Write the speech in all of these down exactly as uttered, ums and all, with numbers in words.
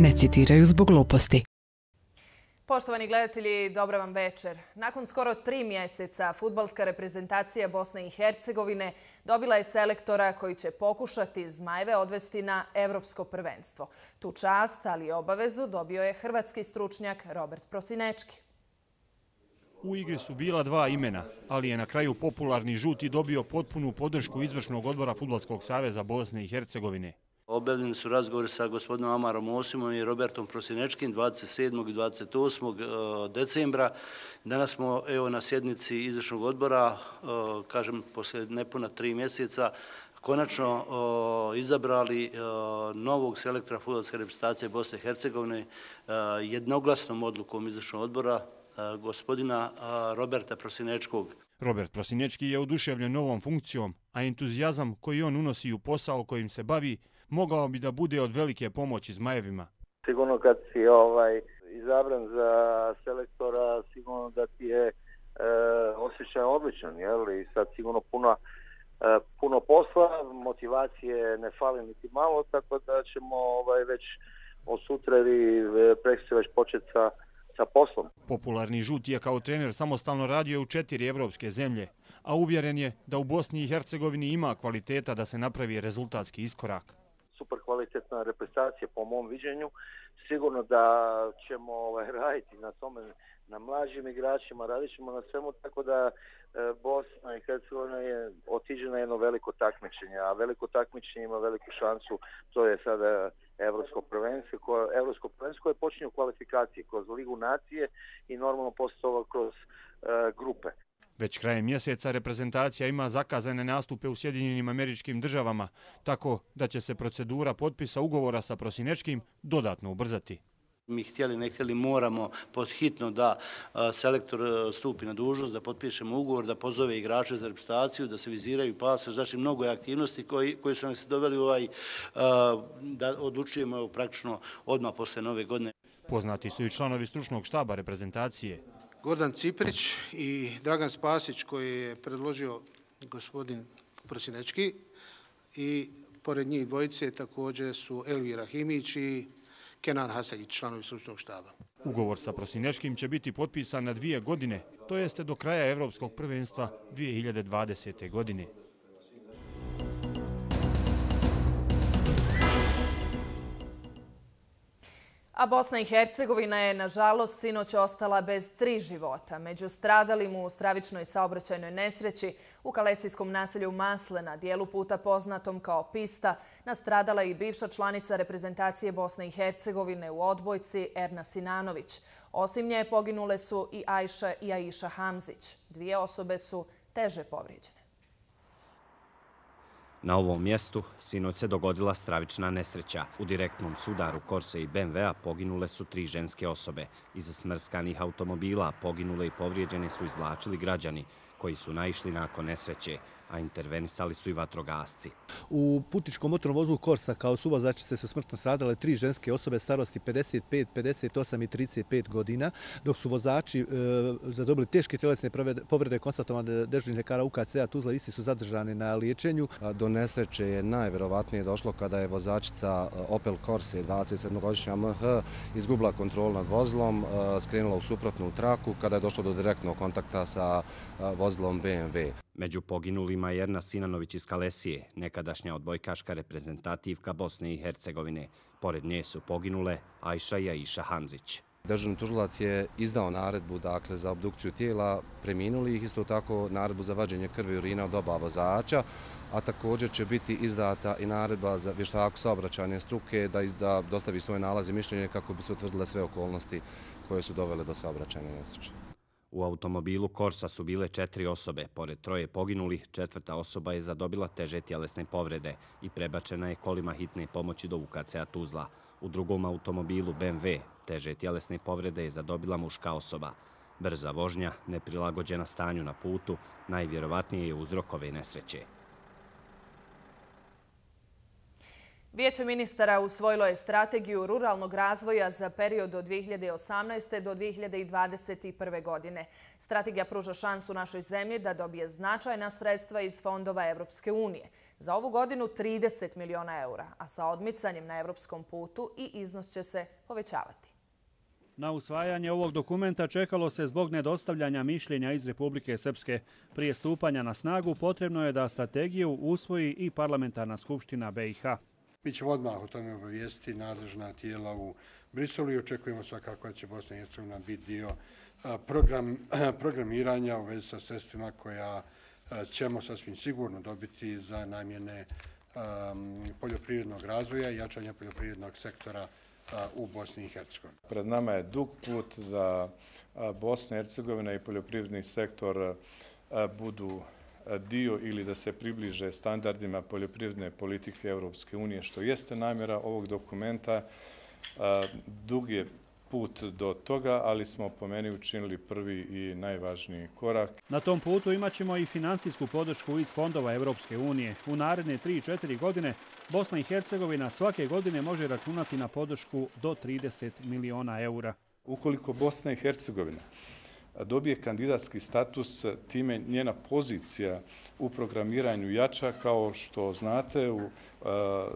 ne citiraju zbog gluposti. Poštovani gledatelji, dobra vam večer. Nakon skoro tri mjeseca fudbalska reprezentacija Bosne i Hercegovine dobila je selektora koji će pokušati Zmajeve odvesti na evropsko prvenstvo. Tu čast, ali i obavezu, dobio je hrvatski stručnjak Robert Prosinečki. U igri su bila dva imena, ali je na kraju popularni žuti dobio potpunu podršku izvršnog odbora Fudbalskog saveza Bosne i Hercegovine. Obavljeni su razgovori sa gospodinom Amarom Osimom i Robertom Prosinečkim dvadeset sedmog i dvadeset osmog decembra. Danas smo evo na sjednici izvršnog odbora, kažem, poslije nepuna tri mjeseca, konačno izabrali novog selektora fudbalske reprezentacije Bosne i Hercegovine jednoglasnom odlukom izvršnog odbora gospodina Roberta Prosinečkog. Robert Prosinečki je oduševljen novom funkcijom, a entuzijazam koji on unosi u posao kojim se bavi mogao bi da bude od velike pomoći Zmajevima. Sigurno kad si ovaj, izabran za selektora, sigurno da ti je e, osjećaj odličan, jel? I sad sigurno puno, e, puno posla, motivacije ne fali niti malo, tako da ćemo ovaj, već od sutra ili prekstra već početi sa sa poslom. Popularni žuti je kao trener samostalno radio u četiri evropske zemlje, a uvjeren je da u Bosni i Hercegovini ima kvaliteta da se napravi rezultatski iskorak. Super kvalitetna reprezentacija po mom viđenju. Sigurno da ćemo ovaj, raditi na tome, na mlađim igračima, radit ćemo na svemu, tako da e, Bosna i Hercegovina je otiđe na jedno veliko takmičenje, a veliko takmičenje ima veliku šansu, to je sada Evropsko prvenstvo, koje, Evropsko prvenstvo koje počinje u kvalifikaciji kroz Ligu nacije i normalno poslije toga kroz e, grupe. Već krajem mjeseca reprezentacija ima zakazane nastupe u Sjedinjenim Američkim Državama, tako da će se procedura potpisa ugovora sa Prosinečkim dodatno ubrzati. Mi htjeli, ne htjeli, moramo podhitno da selektor stupi na dužnost, da potpišemo ugovor, da pozove igrače za reprezentaciju, da se viziraju pasovi, znači mnogo je aktivnosti koji, koji su nas doveli u ovaj, da odlučujemo praktično odmah posle nove godine. Poznati su i članovi stručnog štaba reprezentacije. Gordan Ciprić i Dragan Spasić koji je predložio gospodin Prosinečki i pored njih dvojice također su Elvira Himić i Kenan Hasagić, članovi stručnog štaba. Ugovor sa Prosinečkim će biti potpisan na dvije godine, to jeste do kraja Evropskog prvenstva dvije hiljade dvadesete. godine. A Bosna i Hercegovina je, nažalost, sinoć ostala bez tri života. Među stradalim u stravičnoj saobraćajnoj nesreći u kalesijskom naselju Maslena, dijelu puta poznatom kao Pista, nastradala i bivša članica reprezentacije Bosne i Hercegovine u odbojci Erna Sinanović. Osim nje poginule su i Ajša i Aisha Hamzić. Dvije osobe su teže povrijeđene. Na ovom mjestu sinoć se dogodila stravična nesreća. U direktnom sudaru Corse i B M W-a poginule su tri ženske osobe. Iz smrskanih automobila poginule i povrijeđene su izvlačili građani koji su naišli nakon nesreće, a intervenisali su i vatrogasci. U putničkom motornom vozilu Corsa kao suvozačice su smrtno stradale tri ženske osobe starosti pedeset pet, pedeset osam i trideset pet godina, dok su vozači e, zadobili teške tjelesne povrede konstatovane dežurnih ljekara U K C-a Tuzla, isti su zadržani na liječenju. Do nesreće je najvjerovatnije došlo kada je vozačica Opel Corse dvadeset sedmogodišnja M H izgubila kontrolu nad vozilom, skrenula u suprotnu traku kada je došlo do direktnog kontakta sa vozilom B M W. Među poginulima je Erna Sinanović iz Kalesije, nekadašnja odbojkaška reprezentativka Bosne i Hercegovine. Pored nje su poginule Ajša i Aisha Hamzić. Dežurni tužilac je izdao naredbu dakle, za obdukciju tijela preminulih, isto tako naredbu za vađenje krvi i urina od oba vozača, a također će biti izdata i naredba za vještaku saobraćajne struke da, da dostavi svoje nalaze i mišljenje kako bi se utvrdile sve okolnosti koje su dovele do saobraćajne nesreće. U automobilu Corsa su bile četiri osobe. Pored troje poginulih, četvrta osoba je zadobila teže tjelesne povrede i prebačena je kolima hitne pomoći do U K C-a Tuzla. U drugom automobilu B M W teže tjelesne povrede je zadobila muška osoba. Brza vožnja, neprilagođena stanju na putu, najvjerovatnije je uzrok ove nesreće. Vijeće ministara usvojilo je strategiju ruralnog razvoja za period od dvije hiljade osamnaeste. do dvije hiljade dvadeset prve. godine. Strategija pruža šansu našoj zemlji da dobije značajna sredstva iz fondova Evropske unije. Za ovu godinu trideset miliona eura, a sa odmicanjem na evropskom putu i iznos će se povećavati. Na usvajanje ovog dokumenta čekalo se zbog nedostavljanja mišljenja iz Republike Srpske. Prije stupanja na snagu potrebno je da strategiju usvoji i Parlamentarna skupština B i H. Mi ćemo odmah o tome obavijestiti nadležna tijela u Briselu i očekujemo svakako da će Bosna i Hercegovina biti dio program, programiranja u vezi sa sredstvima koja ćemo sasvim sigurno dobiti za namjene um, poljoprivrednog razvoja i jačanja poljoprivrednog sektora u Bosni i Hercegovini. Pred nama je dug put da Bosna i Hercegovina i poljoprivredni sektor budu dio ili da se približe standardima poljoprivredne politike Europske unije, što jeste namjera ovog dokumenta. Dug je put do toga, ali smo po meni učinili prvi i najvažniji korak. Na tom putu imat ćemo i finansijsku podršku iz fondova Europske unije. U naredne tri do četiri godine Bosna i Hercegovina svake godine može računati na podršku do trideset miliona eura. Ukoliko Bosna i Hercegovina dobije kandidatski status, time njena pozicija u programiranju jača. Kao što znate, u, uh,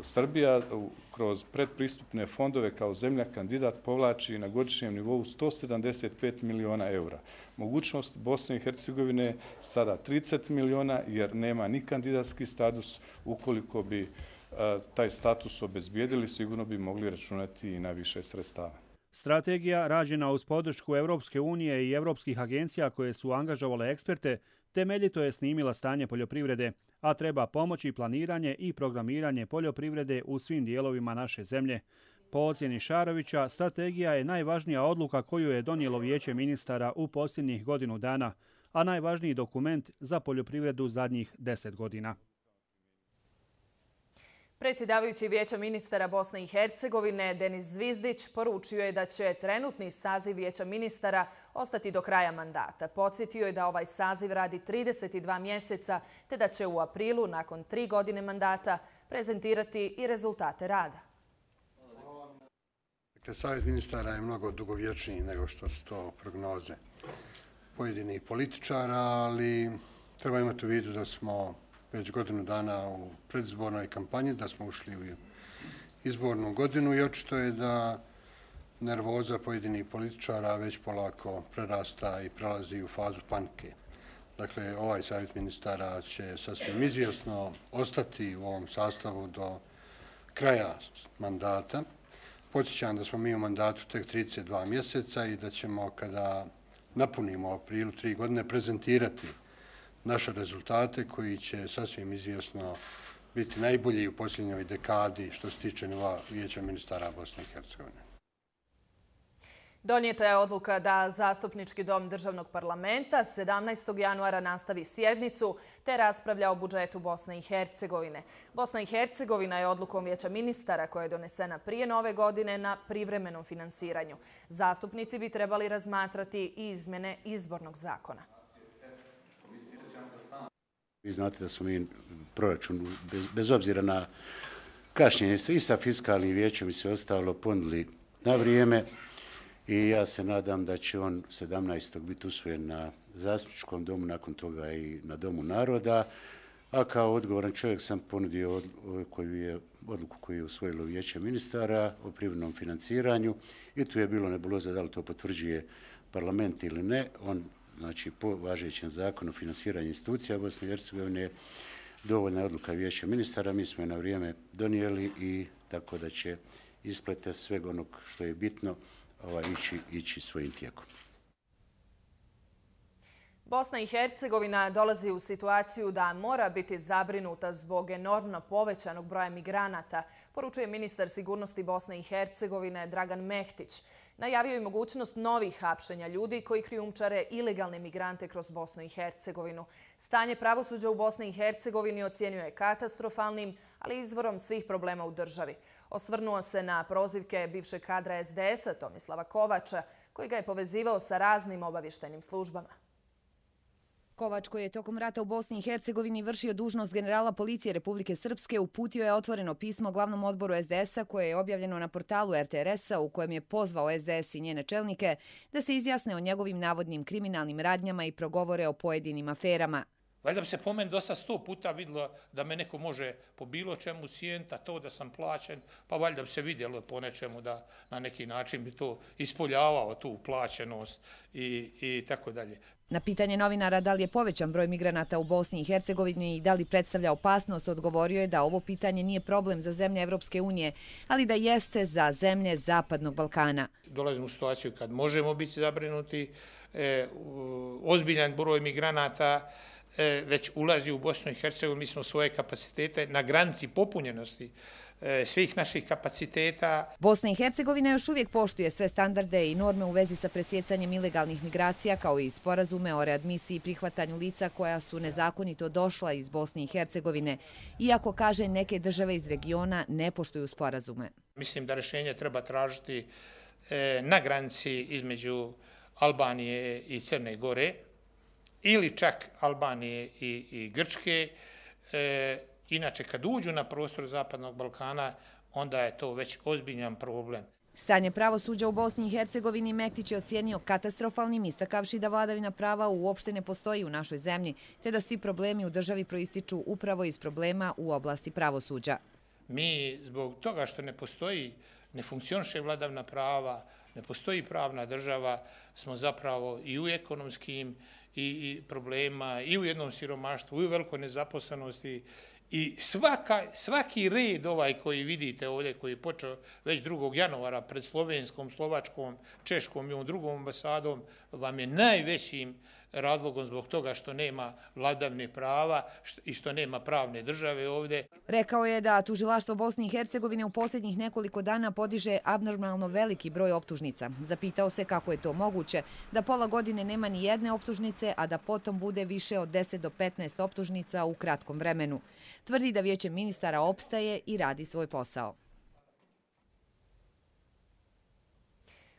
Srbija u, kroz predpristupne fondove kao zemlja kandidat povlači na godišnjem nivou sto sedamdeset pet miliona eura. Mogućnost Bosne i Hercegovine sada trideset miliona jer nema ni kandidatski status. Ukoliko bi uh, taj status obezbijedili, sigurno bi mogli računati i na više sredstava. Strategija, rađena uz podršku Europske unije i europskih agencija koje su angažovale eksperte, temeljito je snimila stanje poljoprivrede, a treba pomoći planiranje i programiranje poljoprivrede u svim dijelovima naše zemlje. Po ocjeni Šarovića, strategija je najvažnija odluka koju je donijelo Vijeće ministara u posljednjih godinu dana, a najvažniji dokument za poljoprivredu zadnjih deset godina. Predsjedavajući Vijeća ministara Bosne i Hercegovine Denis Zvizdić poručio je da će trenutni saziv Vijeća ministara ostati do kraja mandata. Podsjetio je da ovaj saziv radi trideset dva mjeseca, te da će u aprilu, nakon tri godine mandata, prezentirati i rezultate rada. Dakle, Savjet ministara je mnogo dugovječniji nego što su to prognoze pojedinih političara, ali treba imati u vidu da smo već godinu dana u predizbornoj kampanji, da smo ušli u izbornu godinu i očito je da nervoza pojedinih političara već polako prerasta i prelazi u fazu panike. Dakle, ovaj savjet ministara će sasvim izvjesno ostati u ovom sastavu do kraja mandata. Podsjećam da smo mi u mandatu tek trideset dva mjeseca i da ćemo, kada napunimo aprilu tri godine, prezentirati naše rezultate koji će sasvim izvjesno biti najbolji u posljednjoj dekadi što se tiče nivoa Vijeća ministara Bosne i Hercegovine. Donijeta je odluka da Zastupnički dom Državnog parlamenta sedamnaestog januara nastavi sjednicu te raspravlja o budžetu Bosne i Hercegovine. Bosna i Hercegovina je odlukom Vijeća ministara koja je donesena prije nove godine na privremenom finansiranju. Zastupnici bi trebali razmatrati i izmjene izbornog zakona. Vi znate da smo mi proračun, bez, bez obzira na kašnjenje i sa fiskalnim vijećem i sve ostalo, ponudili na vrijeme i ja se nadam da će on sedamnaestog biti usvojen na Zastupničkom domu, nakon toga i na Domu naroda, a kao odgovoran čovjek sam ponudio koju je, odluku koju je usvojilo Vijeće ministara o privremenom financiranju i tu je bilo nebuloza da li to potvrđuje parlament ili ne. On, znači, po važećem zakonu o finansiranju institucija Bosne i Hercegovine, dovoljna je odluka Vijeća ministara, mi smo je na vrijeme donijeli i tako da će isplete svega onog što je bitno ovaj, ići, ići svojim tijekom. Bosna i Hercegovina dolazi u situaciju da mora biti zabrinuta zbog enormno povećanog broja migranata, poručuje ministar sigurnosti Bosne i Hercegovine Dragan Mehtić. Najavio je mogućnost novih hapšenja ljudi koji krijumčare ilegalne migrante kroz Bosnu i Hercegovinu. Stanje pravosuđa u Bosni i Hercegovini ocjenjuje katastrofalnim, ali izvorom svih problema u državi. Osvrnuo se na prozivke bivšeg kadra S D S-a Tomislava Kovača, koji ga je povezivao sa raznim obavještajnim službama. Kovač, koji je tokom rata u Bosni i Hercegovini vršio dužnost generala policije Republike Srpske, uputio je otvoreno pismo glavnom odboru S D S-a koje je objavljeno na portalu R T R S-a u kojem je pozvao S D S i njene čelnike da se izjasne o njegovim navodnim kriminalnim radnjama i progovore o pojedinim aferama. Valjda bi se po meni dosta sto puta vidjelo da me neko može po bilo čemu cijeniti, a to da sam plaćen, pa valjda bi se vidjelo po nečemu da na neki način bi to ispoljavao tu plaćenost i, i tako dalje. Na pitanje novinara da li je povećan broj migranata u Bosni i Hercegovini i da li predstavlja opasnost, odgovorio je da ovo pitanje nije problem za zemlje Evropske unije, ali da jeste za zemlje Zapadnog Balkana. Dolazimo u situaciju kad možemo biti zabrinuti, e, ozbiljan broj migranata e, već ulazi u Bosnu i Hercegovinu, mi smo svoje kapacitete na granici popunjenosti svih naših kapaciteta. Bosna i Hercegovina još uvijek poštuje sve standarde i norme u vezi sa presjecanjem ilegalnih migracija, kao i sporazume o readmisiji i prihvatanju lica koja su nezakonito došla iz Bosne i Hercegovine, iako, kaže, neke države iz regiona ne poštuju sporazume. Mislim da rješenje treba tražiti na granici između Albanije i Crne Gore, ili čak Albanije i, i Grčke. E, inače, kad uđu na prostor Zapadnog Balkana, onda je to već ozbiljan problem. Stanje pravosuđa u Bosni i Hercegovini Mektić je ocijenio katastrofalnim, istakavši da vladavina prava uopšte ne postoji u našoj zemlji, te da svi problemi u državi proističu upravo iz problema u oblasti pravosuđa. Mi, zbog toga što ne postoji, ne funkcioniše vladavina prava, ne postoji pravna država, smo zapravo i u ekonomskim i problema, i u jednom siromaštvu, i u velikoj nezaposlenosti. I svaka, svaki red ovaj koji vidite ovdje, koji je počeo već drugog januara pred Slovenskom, Slovačkom, Češkom i ovom drugom ambasadom, vam je najvećim razlogom zbog toga što nema vladavine prava i što nema pravne države ovdje. Rekao je da tužilaštvo Bosne i Hercegovine u posljednjih nekoliko dana podiže abnormalno veliki broj optužnica. Zapitao se kako je to moguće da pola godine nema ni jedne optužnice, a da potom bude više od deset do petnaest optužnica u kratkom vremenu. Tvrdi da vijeće ministara opstaje i radi svoj posao.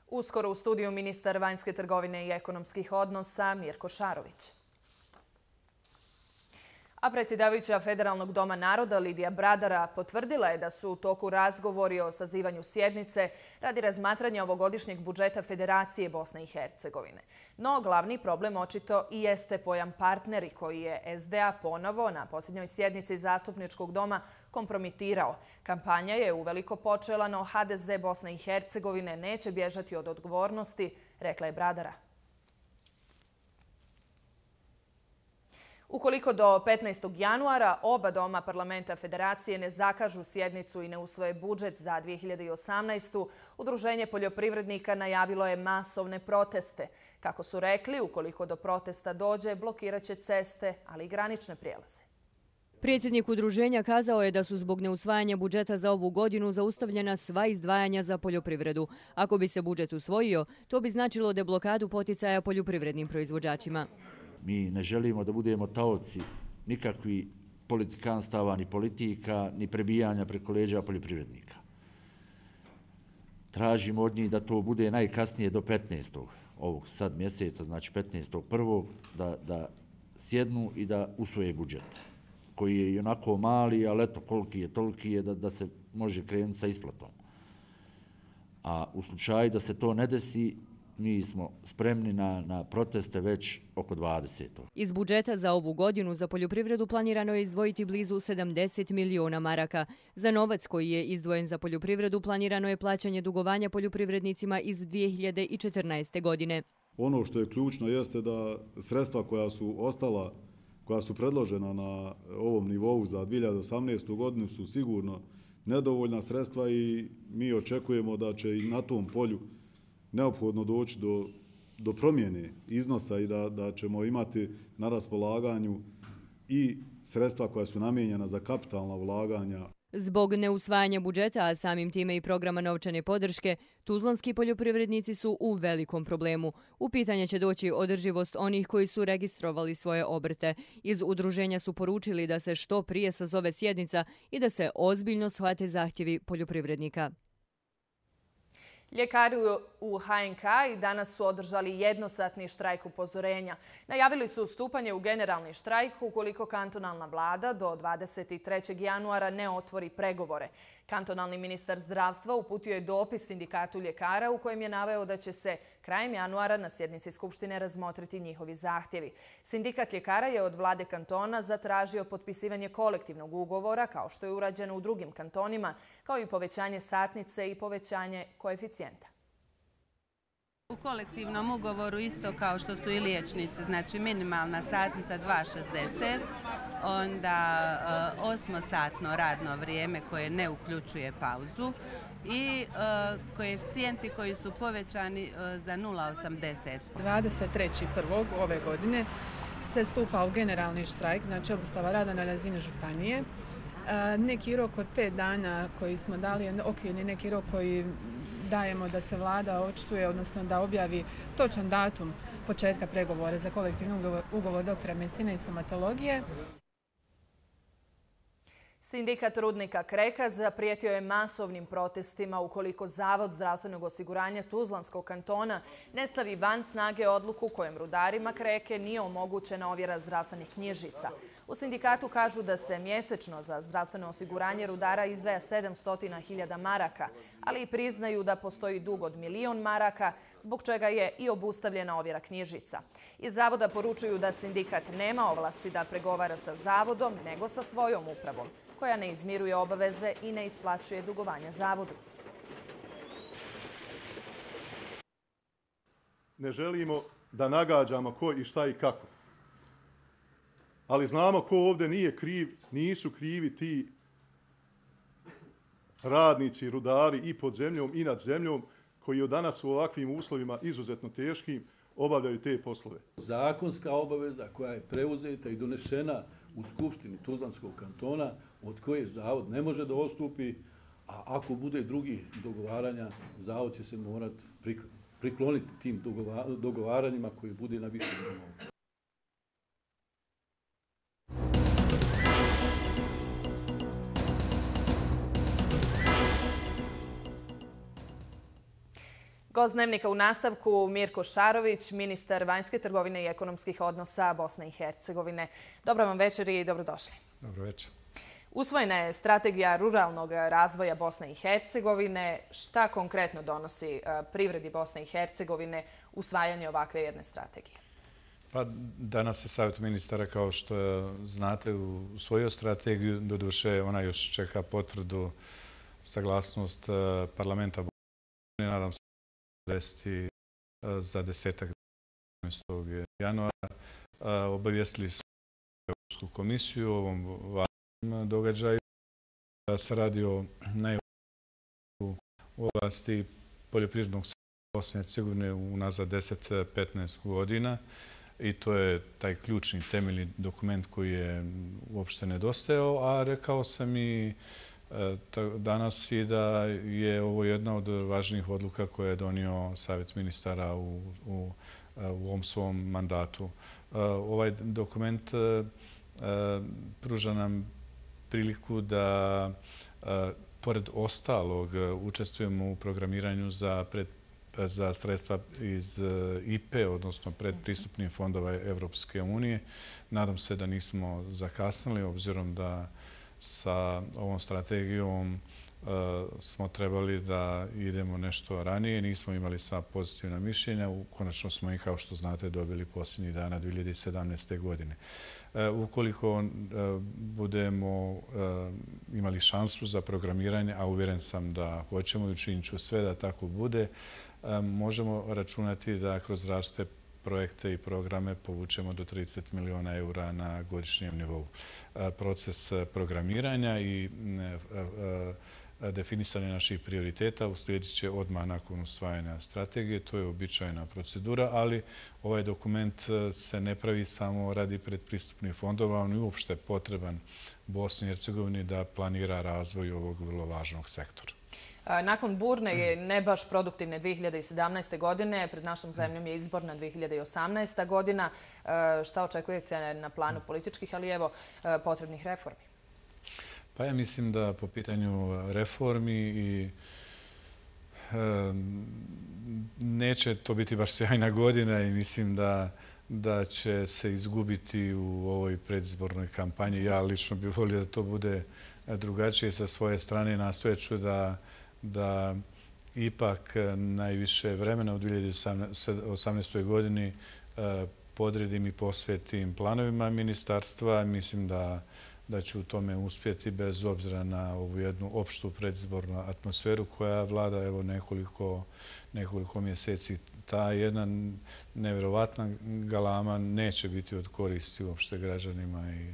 Uskoro u studiju ministar vanjske trgovine i ekonomskih odnosa Mirko Šarović. A predsjedavajuća Federalnog doma naroda Lidija Bradara potvrdila je da su u toku razgovori o sazivanju sjednice radi razmatranja ovogodišnjeg budžeta Federacije Bosne i Hercegovine. No, glavni problem očito i jeste pojam partneri koji je S D A ponovo na posljednjoj sjednici Zastupničkog doma kompromitirao. Kampanja je uveliko počela, no H D Z Bosne i Hercegovine neće bježati od odgovornosti, rekla je Bradara. Ukoliko do petnaestog januara oba doma parlamenta Federacije ne zakažu sjednicu i ne usvoje budžet za dvije hiljade osamnaestu. Udruženje poljoprivrednika najavilo je masovne proteste. Kako su rekli, ukoliko do protesta dođe, blokirat će ceste, ali i granične prijelaze. Predsjednik udruženja kazao je da su zbog neusvajanja budžeta za ovu godinu zaustavljena sva izdvajanja za poljoprivredu. Ako bi se budžet usvojio, to bi značilo deblokadu poticaja poljoprivrednim proizvođačima. Mi ne želimo da budemo taoci nikakvi politikanstava, ni politika, ni prebijanja preko leđa poljoprivrednika. Tražimo od njih da to bude najkasnije do petnaestog ovog sad mjeseca, znači petnaestog prvog da, da sjednu i da usvoje budžet, koji je i onako mali, ali eto koliki je, toliki je da, da se može krenuti sa isplatom. A u slučaju da se to ne desi, mi smo spremni na, na proteste već oko dvadesetog Iz budžeta za ovu godinu za poljoprivredu planirano je izdvojiti blizu sedamdeset miliona maraka. Za novac koji je izdvojen za poljoprivredu planirano je plaćanje dugovanja poljoprivrednicima iz dvije hiljade četrnaeste. godine. Ono što je ključno jeste da sredstva koja su ostala, koja su predložena na ovom nivou za dvije hiljade osamnaestu. godinu su sigurno nedovoljna sredstva i mi očekujemo da će i na tom polju neophodno doći do, do promjene iznosa i da, da ćemo imati na raspolaganju i sredstva koja su namijenjena za kapitalna ulaganja. Zbog neusvajanja budžeta, a samim time i programa novčane podrške, tuzlanski poljoprivrednici su u velikom problemu. U pitanje će doći održivost onih koji su registrovali svoje obrte. Iz udruženja su poručili da se što prije sazove sjednica i da se ozbiljno shvate zahtjevi poljoprivrednika. Ljekari u H N K i danas su održali jednosatni štrajk upozorenja. Najavili su stupanje u generalni štrajk ukoliko kantonalna vlada do dvadeset trećeg januara ne otvori pregovore. Kantonalni ministar zdravstva uputio je dopis sindikatu ljekara u kojem je naveo da će se krajem januara na sjednici Skupštine razmotriti njihovi zahtjevi. Sindikat ljekara je od vlade kantona zatražio potpisivanje kolektivnog ugovora, kao što je urađeno u drugim kantonima, kao i povećanje satnice i povećanje koeficijenta. U kolektivnom ugovoru isto kao što su i liječnici, znači minimalna satnica dva šezdeset, onda osmosatno radno vrijeme koje ne uključuje pauzu i koeficijenti koji su povećani za nula osamdeset. dvadeset trećeg prvog ove godine se stupa u generalni štrajk, znači obustava rada na razini županije. Neki rok od pet dana koji smo dali je okvirni neki rok koji dajemo da se vlada očituje, odnosno da objavi točan datum početka pregovora za kolektivni ugovor doktora medicine i stomatologije. Sindikat rudnika Kreka zaprijetio je masovnim protestima ukoliko Zavod zdravstvenog osiguranja Tuzlanskog kantona ne stavi van snage odluku kojem rudarima Kreke nije omogućena ovjera zdravstvenih knjižica. U sindikatu kažu da se mjesečno za zdravstveno osiguranje rudara izdvaja sedamsto hiljada maraka, ali i priznaju da postoji dug od milion maraka, zbog čega je i obustavljena ovjera knjižica. Iz Zavoda poručuju da sindikat nema ovlasti da pregovara sa Zavodom, nego sa svojom upravom, koja ne izmiruje obaveze i ne isplaćuje dugovanja Zavodu. Ne želimo da nagađamo ko i šta i kako. Ali znamo ko ovdje nije kriv, nisu krivi ti radnici, rudari i pod zemljom i nad zemljom koji od danas u ovakvim uslovima izuzetno teškim obavljaju te poslove. Zakonska obaveza koja je preuzeta i donešena u Skupštini Tuzlanskog kantona, od koje Zavod ne može da odstupi, a ako bude drugih dogovaranja, Zavod će se morati prikloniti tim dogovaranjima koji bude na višem nivou. Gost Dnevnika u nastavku Mirko Šarović, ministar vanjske trgovine i ekonomskih odnosa Bosne i Hercegovine. Dobro vam večer i dobrodošli. Dobro večer. Usvojena je strategija ruralnog razvoja Bosne i Hercegovine. Šta konkretno donosi privredi Bosne i Hercegovine usvajanje ovakve jedne strategije? Pa danas je Savjet ministara, kao što znate, usvojio strategiju. Doduše, ona još čeka potvrdu, saglasnost parlamenta Bosne. Nadam se desiti za desetak jedanaestog januara. Obavijestili smo Europsku komisiju o ovom važnom događaju. Se radi o najvažnijem u oblasti poljoprivrednog sektora Bosne i Hercegovine unazad deset do petnaest godina i to je taj ključni temeljni dokument koji je uopšte nedostajao, a rekao sam i danas i da je ovo jedna od važnijih odluka koje je donio Savjet ministara u, u, u ovom svom mandatu. Ovaj dokument pruža nam priliku da, pored ostalog, učestvujemo u programiranju za, pred, za sredstva iz I P E, odnosno predpristupnih fondova Evropske unije. Nadam se da nismo zakasnili, obzirom da sa ovom strategijom smo trebali da idemo nešto ranije. Nismo imali sva pozitivna mišljenja. Konačno smo i, kao što znate, dobili posljednjih dana dvije hiljade sedamnaeste. godine. Ukoliko budemo imali šansu za programiranje, a uvjeren sam da hoćemo i učinit ću sve da tako bude, možemo računati da kroz različite projekte i programe povučemo do trideset miliona eura na godišnjem nivou. Proces programiranja i definisanje naših prioriteta uslijedit će odmah nakon usvajanja strategije. To je uobičajena procedura, ali ovaj dokument se ne pravi samo radi predpristupnih fondova, on je uopšte potreban Bosni i Hercegovini da planira razvoj ovog vrlo važnog sektora. Nakon burne i ne baš produktivne dvije hiljade sedamnaeste. godine, pred našom zemljom je izborna dvije hiljade osamnaesta. godina. Šta očekujete na planu političkih, ali evo potrebnih reformi? Pa ja mislim da po pitanju reformi i neće to biti baš sjajna godina i mislim da da će se izgubiti u ovoj predizbornoj kampanji. Ja lično bih volio da to bude drugačije. Sa svoje strane nastojeću da, da ipak najviše vremena u dvije hiljade osamnaestoj godini podredim i posvetim planovima ministarstva. Mislim da da ću u tome uspjeti bez obzira na ovu jednu opštu predizbornu atmosferu koja vlada evo nekoliko, nekoliko mjeseci. Ta jedna nevjerovatna galama neće biti od koristi uopšte građanima i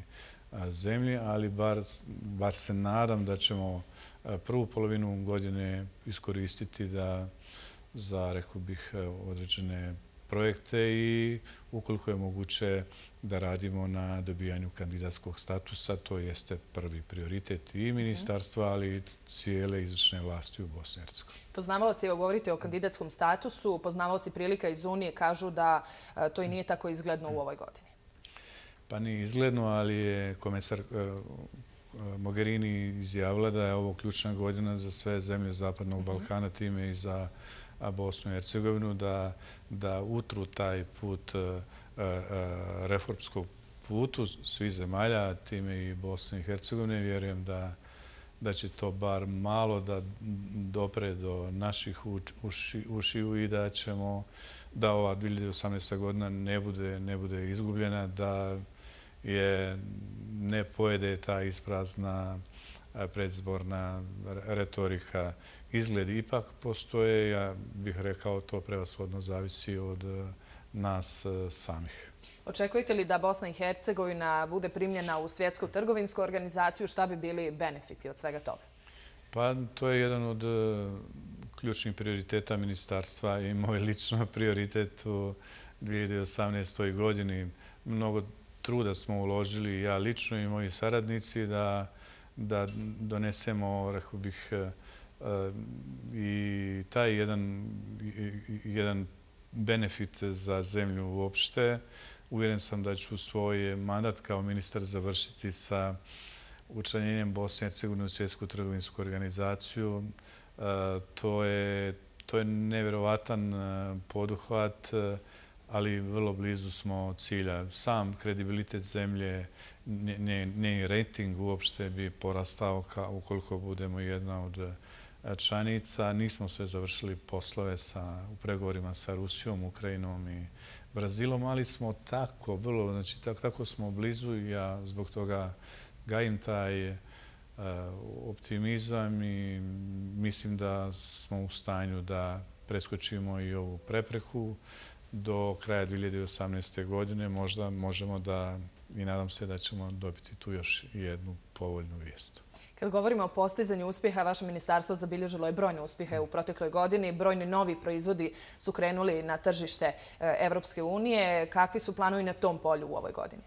zemlji, ali bar, bar se nadam da ćemo prvu polovinu godine iskoristiti da za, rekao bih, određene projekte i ukoliko je moguće da radimo na dobijanju kandidatskog statusa, to jeste prvi prioritet i ministarstva, ali i cijele izvršne vlasti u Bosni i Hercegovini. Poznavaoci, evo govorite o kandidatskom statusu, poznavaoci prilika iz Unije kažu da to i nije tako izgledno u ovoj godini. Pa nije izgledno, ali je komesar Mogherini izjavila da je ovo ključna godina za sve zemlje Zapadnog Balkana, time i za Bosnu i Hercegovinu, da, da utru taj put, reformskog putu svih zemalja, time i Bosne i Hercegovine. Vjerujem da, da će to bar malo da dopre do naših uši, ušiju i da ćemo, da ova dvije hiljade osamnaesta godina ne bude, ne bude izgubljena, da je ne pojede ta isprazna predizborna retorika. Izgledi ipak postoje, ja bih rekao, to prevashodno zavisi od nas samih. Očekujete li da Bosna i Hercegovina bude primljena u Svjetsku trgovinsku organizaciju? Šta bi bili benefiti od svega toga? Pa to je jedan od ključnih prioriteta ministarstva i moj lično prioritet u dvije hiljade osamnaestoj godini. Mnogo truda smo uložili, ja lično i moji saradnici, da, da donesemo, rekao bih, i taj jedan, jedan benefit za zemlju uopšte. Uvjeren sam da ću svoj mandat kao ministar završiti sa učlanjenjem Bosne i Hercegovine u Svjetsku trgovinsku organizaciju. To je, to je nevjerovatan poduhvat, ali vrlo blizu smo cilja. Sam kredibilitet zemlje, njen rating uopšte bi porastao ukoliko budemo jedna od članica. Nismo sve završili poslove sa, u pregovorima sa Rusijom, Ukrajinom i Brazilom, ali smo tako, vrlo, znači tako, tako smo blizu i ja zbog toga gajim taj uh, optimizam i mislim da smo u stanju da preskočimo i ovu prepreku do kraja dvije hiljade osamnaeste godine. Možda možemo da, i nadam se da ćemo dobiti tu još jednu povoljnu vijest. Kad govorimo o postizanju uspjeha, vaše ministarstvo zabilježilo je brojne uspjehe u protekloj godini. Brojni novi proizvodi su krenuli na tržište Evropske unije. Kakvi su planovi na tom polju u ovoj godini?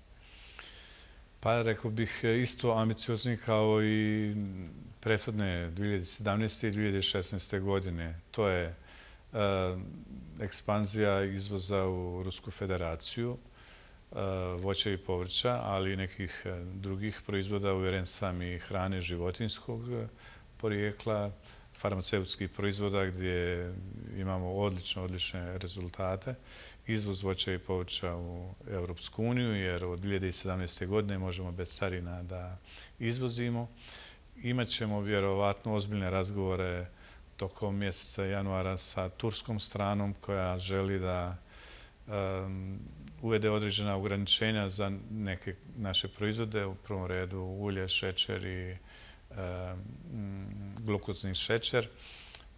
Pa rekao bih isto ambiciozni kao i prethodne dvije hiljade sedamnaeste i dvije hiljade šesnaeste godine. To je uh, ekspanzija izvoza u Rusku federaciju, voća i povrća, ali i nekih drugih proizvoda, uvjeren sam i hrane životinjskog porijekla, farmaceutskih proizvoda gdje imamo odlične, odlične rezultate. Izvoz voća i povrća u Europsku uniju, jer od dvije hiljade sedamnaeste godine možemo bez carina da izvozimo. Imaćemo vjerovatno ozbiljne razgovore tokom mjeseca januara sa turskom stranom koja želi da um, uvede određena ograničenja za neke naše proizvode, u prvom redu ulje, šećer i e, glukozni šećer.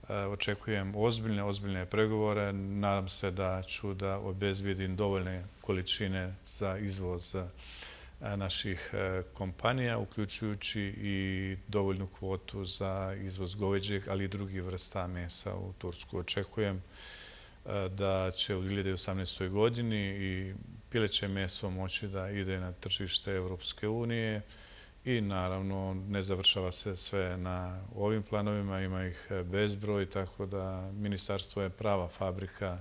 E, očekujem ozbiljne, ozbiljne pregovore. Nadam se da ću da obezbijedim dovoljne količine za izvoz naših kompanija, uključujući i dovoljnu kvotu za izvoz goveđeg, ali i drugih vrsta mesa u Tursku. Očekujem da će u dvije hiljade osamnaestoj godini i pileće meso moći da ide na tržište Evropske unije i naravno ne završava se sve na ovim planovima, ima ih bezbroj, tako da ministarstvo je prava fabrika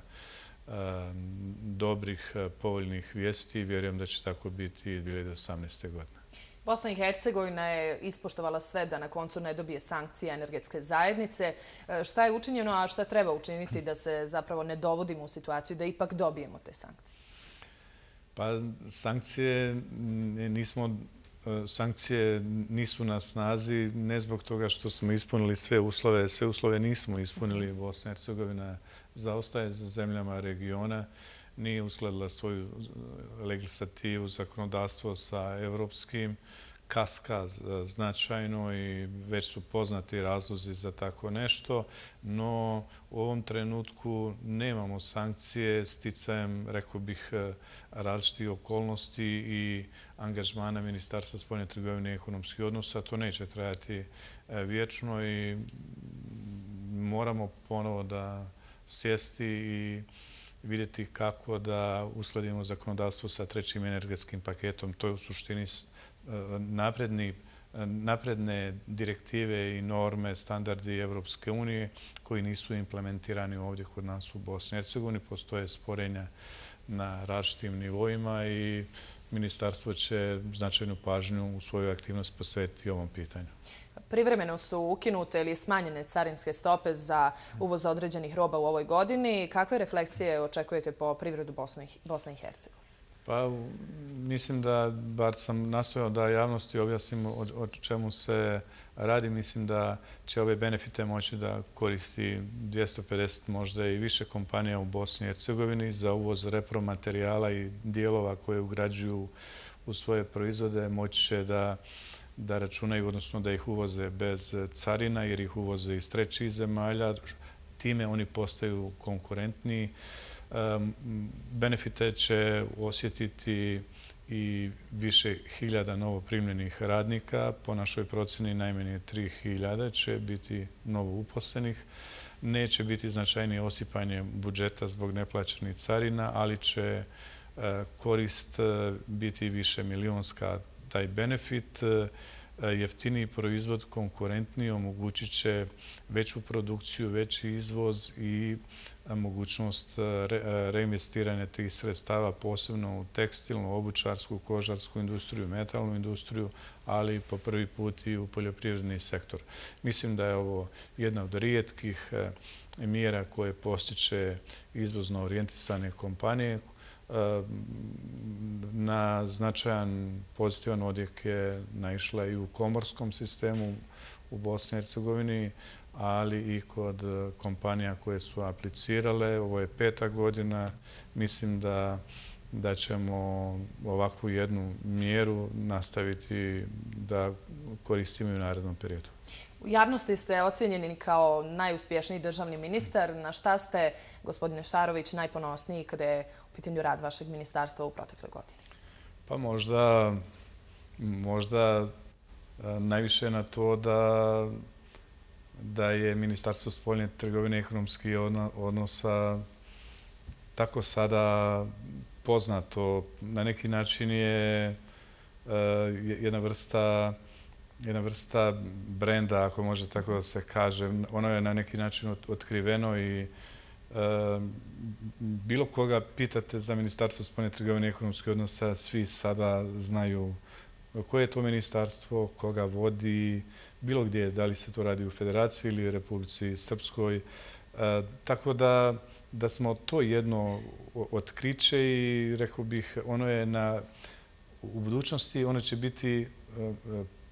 dobrih, povoljnih vijesti i vjerujem da će tako biti i dvije hiljade osamnaeste godine. Bosna i Hercegovina je ispoštovala sve da na koncu ne dobije sankcije energetske zajednice. Šta je učinjeno, a šta treba učiniti da se zapravo ne dovodimo u situaciju da ipak dobijemo te sankcije? Pa sankcije nismo sankcije nisu na snazi ne zbog toga što smo ispunili sve uslove. Sve uslove nismo ispunili. Bosna i Hercegovina zaostaje za zemljama regiona, nije uskladila svoju legislativu, zakonodavstvo sa evropskim, kaska značajno i već su poznati razlozi za tako nešto, no u ovom trenutku nemamo sankcije sticajem, rekao bih, različitih okolnosti i angažmana Ministarstva spoljne trgovine i ekonomskih odnosa. To neće trajati vječno i moramo ponovo da sjesti i vidjeti kako da uskladimo zakonodavstvo sa trećim energetskim paketom. To je u suštini napredni, napredne direktive i norme, standardi Evropske unije koji nisu implementirani ovdje kod nas u Bosni i Hercegovini. Postoje sporenja na različitim nivoima i ministarstvo će značajnu pažnju u svoju aktivnost posvetiti ovom pitanju. Privremeno su ukinute ili smanjene carinske stope za uvoz određenih roba u ovoj godini. Kakve refleksije očekujete po privredu Bosne i Hercegovine? Pa, mislim da, bar sam nastojao da javnosti objasnim o, o čemu se radi. Mislim da će ove benefite moći da koristi dvjesto pedeset možda i više kompanija u Bosni i Hercegovini za uvoz repromaterijala i dijelova koje ugrađuju u svoje proizvode. Moći će da, da računaju, odnosno da ih uvoze bez carina jer ih uvoze iz trećih zemalja. Time oni postaju konkurentniji. Benefite će osjetiti i više hiljada novoprimljenih radnika. Po našoj procjeni najmanje tri hiljade će biti novo uposlenih. Neće biti značajnije osipanje budžeta zbog neplaćenih carina, ali će korist biti više milionska. Taj benefit, jeftiniji proizvod, konkurentniji, omogućit će veću produkciju, veći izvoz i mogućnost reinvestiranja tih sredstava, posebno u tekstilnu, obućarsku, kožarsku industriju, metalnu industriju, ali po prvi put i u poljoprivredni sektor. Mislim da je ovo jedna od rijetkih mjera koje postiče izvozno orijentisane kompanije. Na značajan pozitivan odjek je naišla i u komorskom sistemu u Bosni i Hercegovini, ali i kod kompanija koje su aplicirale. Ovo je peta godina. Mislim da, da ćemo ovakvu jednu mjeru nastaviti da koristimo i u narednom periodu. U javnosti ste ocjenjeni kao najuspješniji državni ministar. Na šta ste, gospodine Šarović, najponosniji kada je u pitanju rad vašeg ministarstva u protekle godine? Pa možda, možda najviše na to da da je Ministarstvo spoljne trgovine i ekonomskih odnosa tako sada poznato. Na neki način je jedna vrsta jedna vrsta brenda, ako može tako da se kaže. Ono je na neki način otkriveno i bilo koga pitate za Ministarstvo spoljne trgovine i ekonomskih odnosa, svi sada znaju koje je to ministarstvo, koga vodi, bilo gdje, da li se to radi u Federaciji ili u Republici Srpskoj. Tako da, da smo to jedno otkriće i rekao bih, ono je na, u budućnosti, ono će biti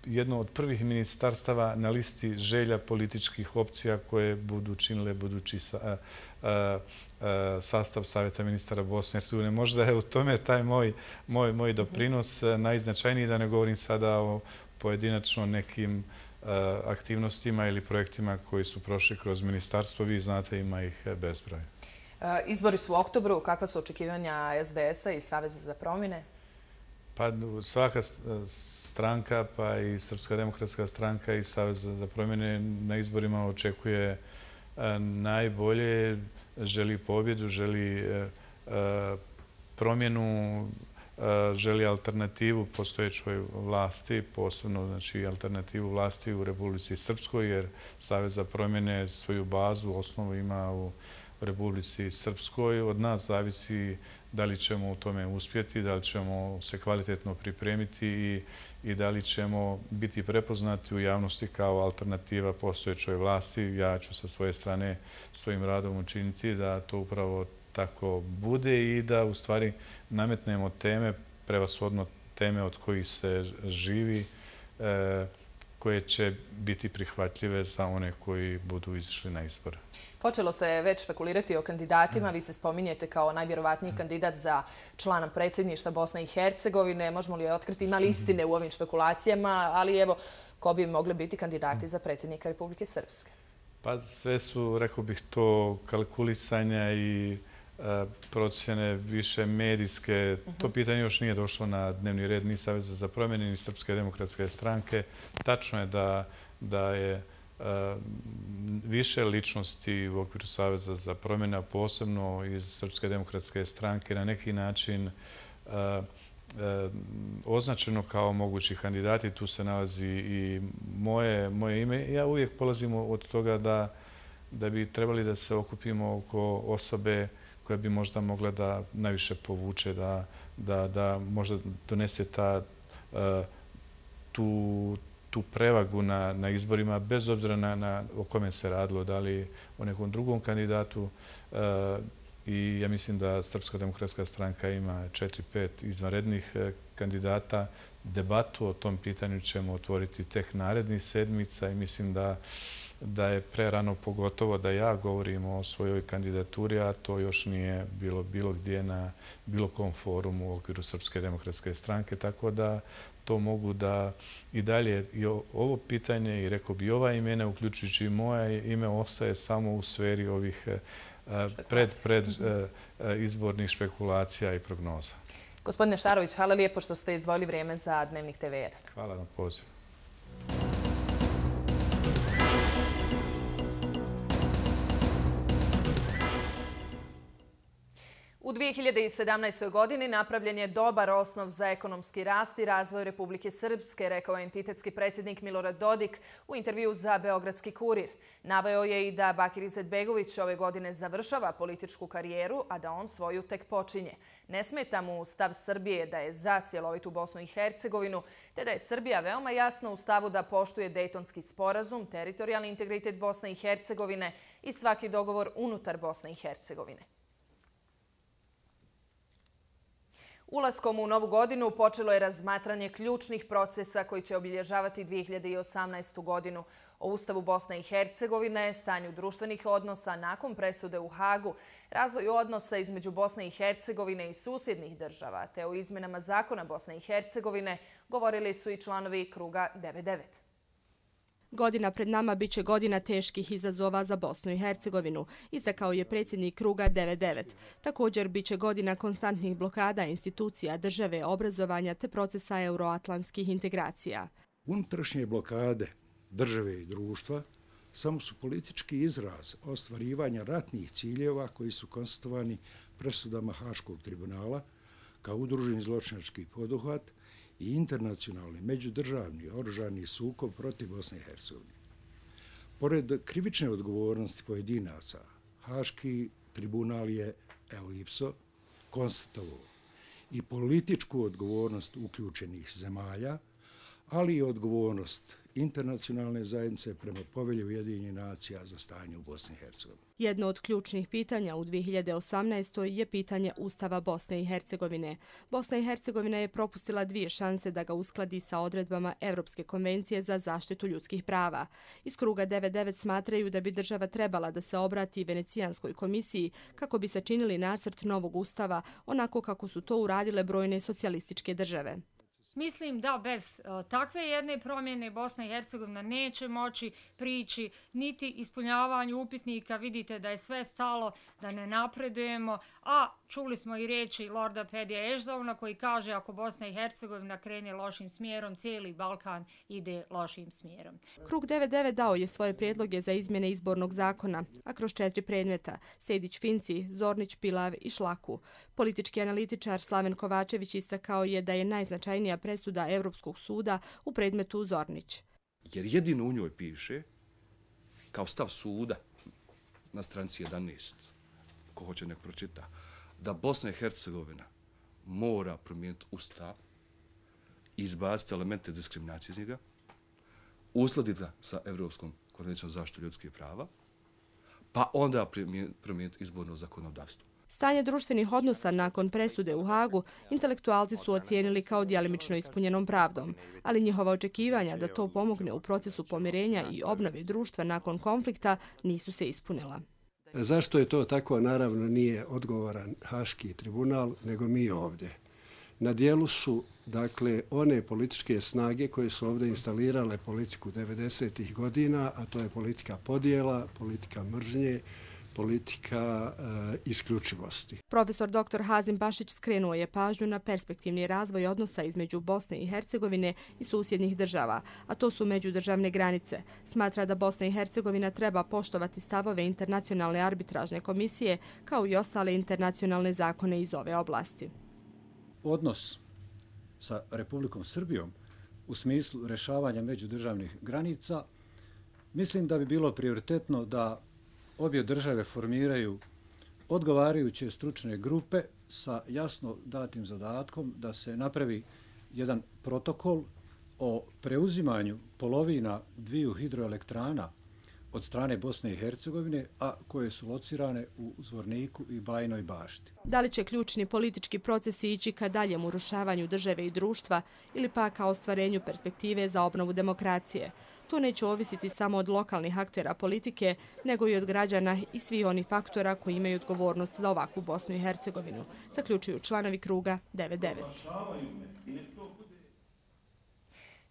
jedno od prvih ministarstava na listi želja političkih opcija koje budu činile budući sa, a, a, sastav Savjeta ministara Bosne i Hercegovine. Možda je u tome taj moj, moj, moj doprinos najznačajniji, da ne govorim sada o pojedinačno nekim a, aktivnostima ili projektima koji su prošli kroz ministarstvo. Vi znate, ima ih bezbroj. Izbori su u oktobru. Kakva su očekivanja es de es a i Saveza za promjene? Pa svaka stranka, pa i Srpska demokratska stranka i Savez za promjene na izborima očekuje najbolje, želi pobjedu, želi promjenu, želi alternativu postojećoj vlasti, posebno znači alternativu vlasti u Republici Srpskoj, jer Savez za promjene svoju bazu, osnovu ima u Republici Srpskoj. Od nas zavisi da li ćemo u tome uspjeti, da li ćemo se kvalitetno pripremiti i, i da li ćemo biti prepoznati u javnosti kao alternativa postojećoj vlasti. Ja ću sa svoje strane svojim radom učiniti da to upravo tako bude i da u stvari nametnemo teme, prevashodno teme od kojih se živi, koje će biti prihvatljive za one koji budu izišli na izbore. Počelo se već špekulirati o kandidatima. Vi se spominjete kao najvjerovatniji kandidat za člana predsjedništva Bosne i Hercegovine. Možemo li otkriti, ima li istine u ovim špekulacijama, ali evo, ko bi mogli biti kandidati za predsjednika Republike Srpske? Pa sve su, rekao bih, to kalkulisanja i procjene više medijske. To pitanje još nije došlo na dnevni red ni Saveza za promjene ni Srpske demokratske stranke. Tačno je da, da je više ličnosti u okviru Saveza za promjene, posebno iz Srpske demokratske stranke, na neki način označeno kao mogući kandidati. Tu se nalazi i moje, moje ime. Ja uvijek polazim od toga da, da bi trebali da se okupimo oko osobe koja bi možda mogla da najviše povuče, da, da, da možda donese ta, tu, tu prevagu na, na izborima, bez obzira na, na o kome se radilo, da li o nekom drugom kandidatu. I ja mislim da Srpska demokratska stranka ima četiri, pet izvanrednih kandidata. Debatu o tom pitanju ćemo otvoriti tek narednih sedmica i mislim da da je prerano, pogotovo da ja govorim o svojoj kandidaturi, a to još nije bilo bilo gdje na bilo kom forumu u okviru Srpske demokratske stranke, tako da to mogu da i dalje i ovo pitanje i rekao bi ova imena, uključujući i moje ime, ostaje samo u sferi ovih pred, pred izbornih špekulacija i prognoza. Gospodine Šarović, hvala lijepo što ste izdvojili vrijeme za Dnevnik te ve jedan. Hvala na pozivu. U dvije hiljade sedamnaestoj. godini napravljen je dobar osnov za ekonomski rast i razvoj Republike Srpske, rekao je entitetski predsjednik Milorad Dodik u intervju za Beogradski kurir. Naveo je i da Bakir Izetbegović ove godine završava političku karijeru, a da on svoju tek počinje. Ne smeta mu stav Srbije da je za cjelovitu Bosnu i Hercegovinu, te da je Srbija veoma jasna u stavu da poštuje Dejtonski sporazum, teritorijalni integritet Bosne i Hercegovine i svaki dogovor unutar Bosne i Hercegovine. Ulaskom u novu godinu počelo je razmatranje ključnih procesa koji će obilježavati dvije hiljade osamnaestu. godinu. O Ustavu Bosne i Hercegovine, stanju društvenih odnosa nakon presude u Hagu, razvoju odnosa između Bosne i Hercegovine i susjednih država, te o izmjenama zakona Bosne i Hercegovine govorili su i članovi Kruga devedeset devet. Godina pred nama biće godina teških izazova za Bosnu i Hercegovinu, istakao je predsjednik Kruga devedeset devet. Također biće godina konstantnih blokada institucija, države, obrazovanja te procesa euroatlantskih integracija. Unutrašnje blokade države i društva samo su politički izraz ostvarivanja ratnih ciljeva koji su konstatovani presudama Haškog tribunala kao udruženi zločinački poduhvat i internacionalni međudržavni oružani sukob protiv Bosne i Hercegovine. Pored krivične odgovornosti pojedinaca, Haški tribunal je, evo ipso, konstatovao i političku odgovornost uključenih zemalja, ali i odgovornost internacionalne zajednice prema povelji Ujedinjenih nacija za stanje u Bosni i Hercegovini. Jedno od ključnih pitanja u dvije hiljade osamnaestoj. je pitanje Ustava Bosne i Hercegovine. Bosna i Hercegovina je propustila dvije šanse da ga uskladi sa odredbama Evropske konvencije za zaštitu ljudskih prava. Iz Kruga devedeset devet smatraju da bi država trebala da se obrati Venecijanskoj komisiji kako bi sačinili nacrt novog ustava, onako kako su to uradile brojne socijalističke države. Mislim da bez uh, takve jedne promjene Bosna i Hercegovina neće moći prići niti ispunjavanju upitnika. Vidite da je sve stalo, da ne napredujemo, a čuli smo i riječi Lorda Pedija Ešdovna koji kaže ako Bosna i Hercegovina krene lošim smjerom, cijeli Balkan ide lošim smjerom. Krug devedeset devet dao je svoje prijedloge za izmjene izbornog zakona, a kroz četiri predmeta – Sejdić-Finci, Zornić-Pilav i Šlaku. Politički analitičar Slaven Kovačević istakao je da je najznačajnija presuda Evropskog suda u predmetu Zornić. Jer jedino u njoj piše, kao stav suda na stranici jedanaest, ko hoće nek pročita, da Bosna i Hercegovina mora promijeniti ustav, izbaciti elemente diskriminacije iz njega, uskladiti ga sa Evropskom konvencijom za zaštitu ljudskih prava, pa onda promijeniti izborno zakonodavstvo. Stanje društvenih odnosa nakon presude u Hagu intelektualci su ocijenili kao djelimično ispunjenom pravdom, ali njihova očekivanja da to pomogne u procesu pomirenja i obnove društva nakon konflikta nisu se ispunila. Zašto je to tako, naravno nije odgovoran Haški tribunal, nego mi ovdje. Na dijelu su dakle one političke snage koje su ovdje instalirale politiku devedesetih godina, a to je politika podjela, politika mržnje, politika e, isključivosti. Profesor doktor Hazim Bašić skrenuo je pažnju na perspektivni razvoj odnosa između Bosne i Hercegovine i susjednih država, a to su međudržavne granice. Smatra da Bosna i Hercegovina treba poštovati stavove Internacionalne arbitražne komisije kao i ostale internacionalne zakone iz ove oblasti. Odnos sa Republikom Srbijom u smislu rješavanja međudržavnih granica, mislim da bi bilo prioritetno da obje države formiraju odgovarajuće stručne grupe sa jasno datim zadatkom da se napravi jedan protokol o preuzimanju polovina dviju hidroelektrana od strane Bosne i Hercegovine, a koje su locirane u Zvorniku i Bajinoj Bašti. Da li će ključni politički procesi ići ka daljem urušavanju države i društva ili pa ka ostvarenju perspektive za obnovu demokracije? To neće ovisiti samo od lokalnih aktera politike, nego i od građana i svih onih faktora koji imaju odgovornost za ovakvu Bosnu i Hercegovinu, zaključuju članovi kruga devet devet.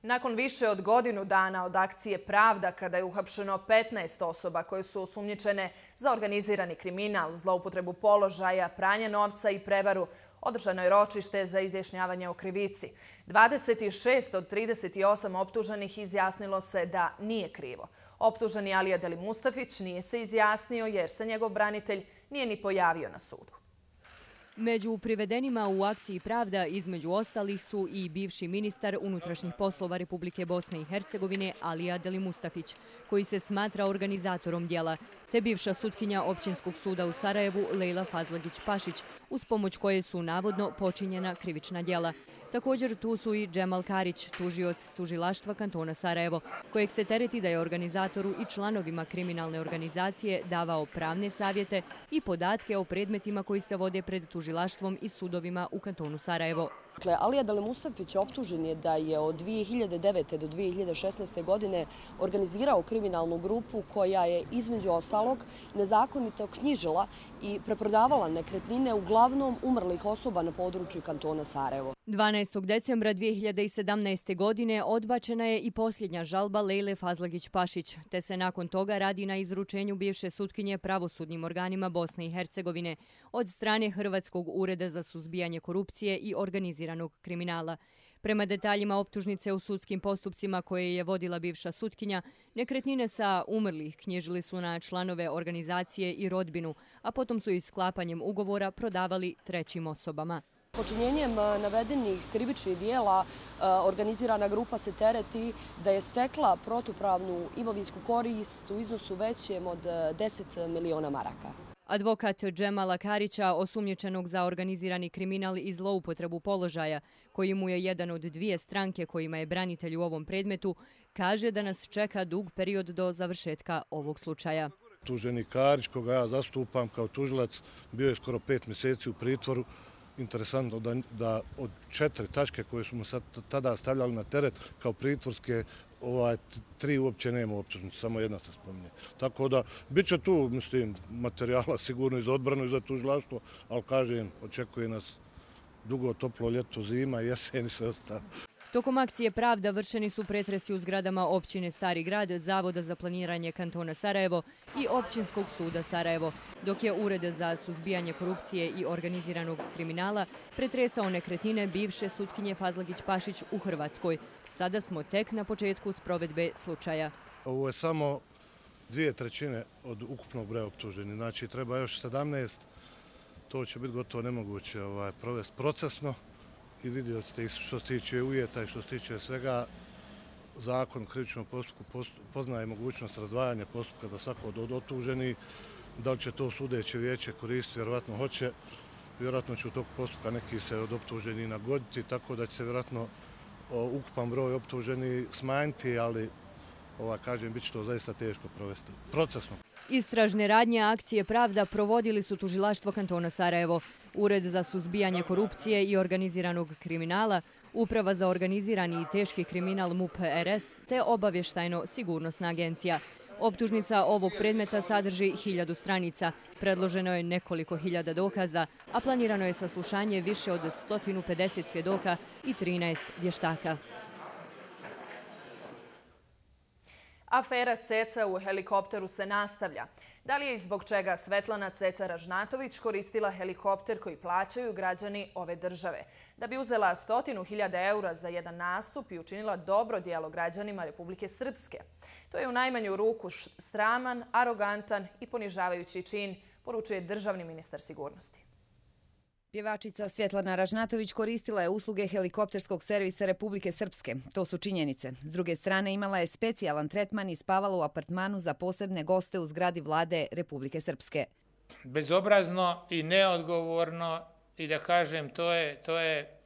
Nakon više od godinu dana od akcije Pravda, kada je uhapšeno petnaest osoba koje su osumnjičene za organizirani kriminal, zloupotrebu položaja, pranje novca i prevaru, održano je ročište za izjašnjavanje o krivici. dvadeset šest od trideset osam optuženih izjasnilo se da nije krivo. Optuženi Alija Deli Mustafić nije se izjasnio jer se njegov branitelj nije ni pojavio na sudu. Među privedenima u akciji Pravda između ostalih su i bivši ministar unutrašnjih poslova Republike Bosne i Hercegovine Alija Deli Mustafić, koji se smatra organizatorom djela, te bivša sutkinja Općinskog suda u Sarajevu Lejla Fazlagić-Pašić, uz pomoć koje su navodno počinjena krivična djela. Također tu su i Džemal Karić, tužioc tužilaštva kantona Sarajevo, kojeg se tereti da je organizatoru i članovima kriminalne organizacije davao pravne savjete i podatke o predmetima koji se vode pred tužilaštvom i sudovima u kantonu Sarajevo. Dakle, Alija Deli Mustafić optužen je da je od dvije hiljade devete do dvije hiljade šesnaeste. godine organizirao kriminalnu grupu koja je između ostalog nezakonito knjižila i preprodavala nekretnine uglavnom umrlih osoba na području kantona Sarajevo. dvanaestog decembra dvije hiljade sedamnaeste. godine odbačena je i posljednja žalba Lejle Fazlagić-Pašić, te se nakon toga radi na izručenju bivše sutkinje pravosudnim organima Bosne i Hercegovine od strane Hrvatskog ureda za suzbijanje korupcije i organiziranog kriminala. Prema detaljima optužnice u sudskim postupcima koje je vodila bivša sutkinja, nekretnine sa umrlih knjižili su na članove organizacije i rodbinu, a potom su i sklapanjem ugovora prodavali trećim osobama. Počinjenjem navedenih krivičnih dijela organizirana grupa se tereti da je stekla protupravnu imovinsku korist u iznosu većem od deset miliona maraka. Advokat Džemala Karića, osumnjičenog za organizirani kriminal i zloupotrebu položaja, koji mu je jedan od dvije stranke kojima je branitelj u ovom predmetu, kaže da nas čeka dug period do završetka ovog slučaja. Tuženi Karić, koga ja zastupam kao tužilac, bio je skoro pet mjeseci u pritvoru. Interesantno da, da od četiri tačke koje smo sad tada stavljali na teret kao pritvorske, ovaj, tri uopće nema optužnice, samo jedna se spominje. Tako da, bit će tu, mislim, materijala sigurno i za odbranu i za tužilaštvo, ali kažem, očekuje nas dugo toplo ljeto, zima, jesen i sve ostalo. Tokom akcije Pravda vršeni su pretresi u zgradama općine Stari grad, Zavoda za planiranje kantona Sarajevo i Općinskog suda Sarajevo, dok je Ured za suzbijanje korupcije i organiziranog kriminala pretresao nekretnine bivše sutkinje Fazlagić-Pašić u Hrvatskoj. Sada smo tek na početku sprovedbe slučaja. Ovo je samo dvije trećine od ukupnog broja optuženih, znači treba još sedamnaest, to će biti gotovo nemoguće ovaj, provesti procesno. I vidjeli ste što se tiče uvjeta i što se tiče svega, zakon o krivičnom postupku poznaje mogućnost razdvajanja postupka za svako od otuženih. Da li će to sudeće vijeće koristiti, vjerovatno hoće. Vjerojatno će u toku postupka neki se od optuženih nagoditi, tako da će se vjerojatno ukupan broj optuženih smanjiti, ali ova, kažem, bit će to zaista teško provesti procesno. Istražne radnje akcije Pravda provodili su tužilaštvo kantona Sarajevo, Ured za suzbijanje korupcije i organiziranog kriminala, Uprava za organizirani i teški kriminal M U P R S te obavještajno-sigurnosna agencija. Optužnica ovog predmeta sadrži hiljadu stranica, predloženo je nekoliko hiljada dokaza, a planirano je saslušanje više od sto pedeset svjedoka i trinaest vještaka. Afera Ceca u helikopteru se nastavlja. Da li je i zbog čega Svetlana Ceca Ražnatović koristila helikopter koji plaćaju građani ove države, da bi uzela stotinu hiljada eura za jedan nastup i učinila dobro djelo građanima Republike Srpske? To je u najmanju ruku sraman, arogantan i ponižavajući čin, poručuje državni ministar sigurnosti. Pjevačica Svetlana Ražnatović koristila je usluge helikopterskog servisa Republike Srpske. To su činjenice. S druge strane, imala je specijalan tretman i spavala u apartmanu za posebne goste u zgradi vlade Republike Srpske. Bezobrazno i neodgovorno i da kažem, to je, to je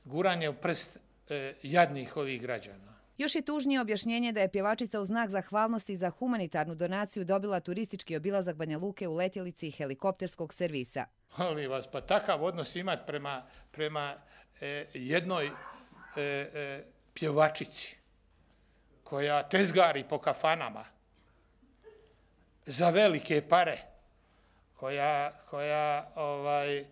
guranje u prst e, jadnih ovih građana. Još je tužnije objašnjenje da je pjevačica u znak zahvalnosti za humanitarnu donaciju dobila turistički obilazak Banja Luke u letjelici helikopterskog servisa. Molim vas, pa takav odnos imati prema, prema e, jednoj e, e, pjevačici koja tezgari po kafanama za velike pare, koja, koja ovaj, e,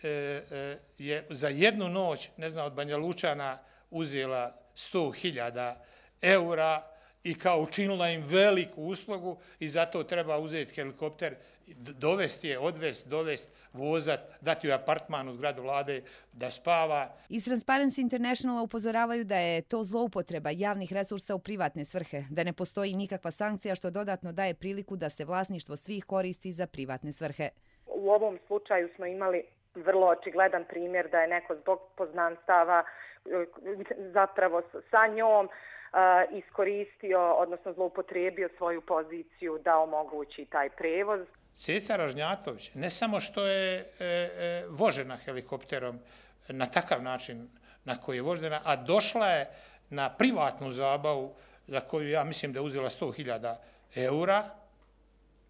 e, je za jednu noć, ne znam, od Banja Lučana uzela sto hiljada eura i kao učinila im veliku uslugu i zato treba uzeti helikopter, dovesti je, odvesti, dovesti, vozat, dati joj apartman u zgradu vlade da spava. Iz Transparency Internationala upozoravaju da je to zloupotreba javnih resursa u privatne svrhe, da ne postoji nikakva sankcija što dodatno daje priliku da se vlasništvo svih koristi za privatne svrhe. U ovom slučaju smo imali vrlo očigledan primjer da je neko zbog poznanstava zapravo sa njom iskoristio, odnosno zloupotrijebio svoju poziciju da omogući taj prevoz. Ceca Ražnjatović ne samo što je e, e, vožena helikopterom na takav način na koji je vožena, a došla je na privatnu zabavu za koju ja mislim da je uzela sto hiljada eura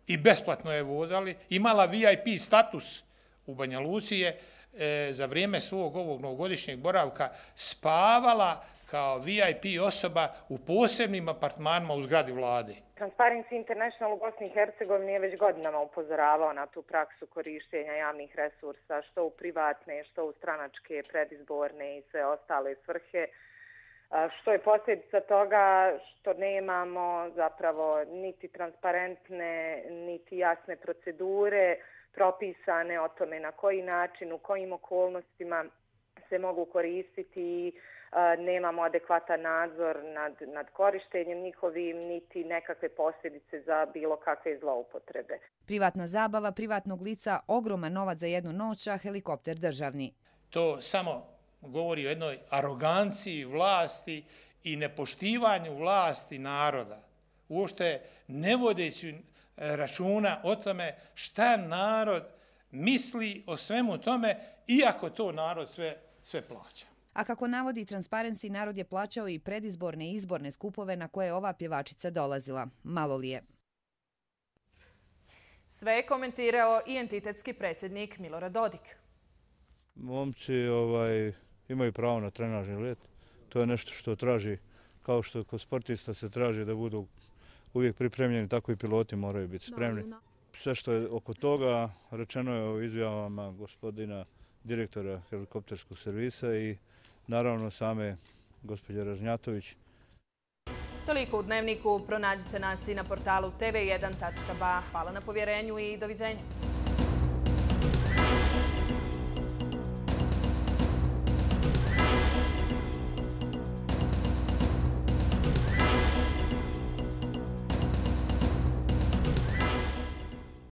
i besplatno je vozali, imala V I P status u Banja Luci je e, za vrijeme svog ovog novogodišnjeg boravka spavala kao V I P osoba u posebnim apartmanima u zgradi vlade. Transparency International u Bosni i Hercegovini je već godinama upozoravao na tu praksu korištenja javnih resursa, što u privatne, što u stranačke, predizborne i sve ostale svrhe, što je posljedica toga što nemamo zapravo niti transparentne, niti jasne procedure propisane o tome na koji način, u kojim okolnostima se mogu koristiti i nemamo adekvatan nadzor nad, nad korištenjem njihovim, niti nekakve posljedice za bilo kakve zloupotrebe. Privatna zabava privatnog lica, ogroman novac za jednu noć, a helikopter državni. To samo govori o jednoj aroganciji vlasti i nepoštivanju vlasti naroda. Uopšte ne vodeći računa o tome šta narod misli o svemu tome, iako to narod sve, sve plaća. A kako navodi Transparency, narod je plaćao i predizborne i izborne skupove na koje ova pjevačica dolazila. Malo li je? Sve je komentirao i entitetski predsjednik Milorad Dodik. Momci ovaj, imaju pravo na trenažni let. To je nešto što traži, kao što kod sportista se traži da budu uvijek pripremljeni, tako i piloti moraju biti spremni. Sve što je oko toga rečeno je o izjavama gospodina direktora helikopterskog servisa i naravno same gospođe Ražnjatović. Toliko u Dnevniku. Pronađite nas i na portalu T V jedan tačka ba. Hvala na povjerenju i doviđenja.